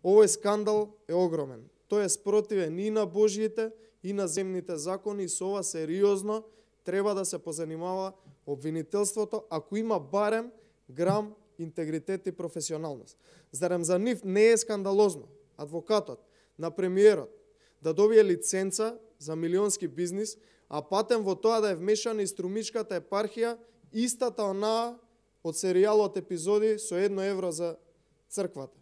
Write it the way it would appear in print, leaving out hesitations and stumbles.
Овој скандал е огромен. Тој е спротивен и на Божјите и на земните закони и со ова сериозно треба да се позанимава обвинителството ако има барем грам интегритет и професионалност. Зарем за нив не е скандалозно адвокатот на премиерот да добие лиценца за милионски бизнис, а патем во тоа да е вмешана и струмичката епархија, истата онаа од серијалот епизоди со 1 евро за црквата.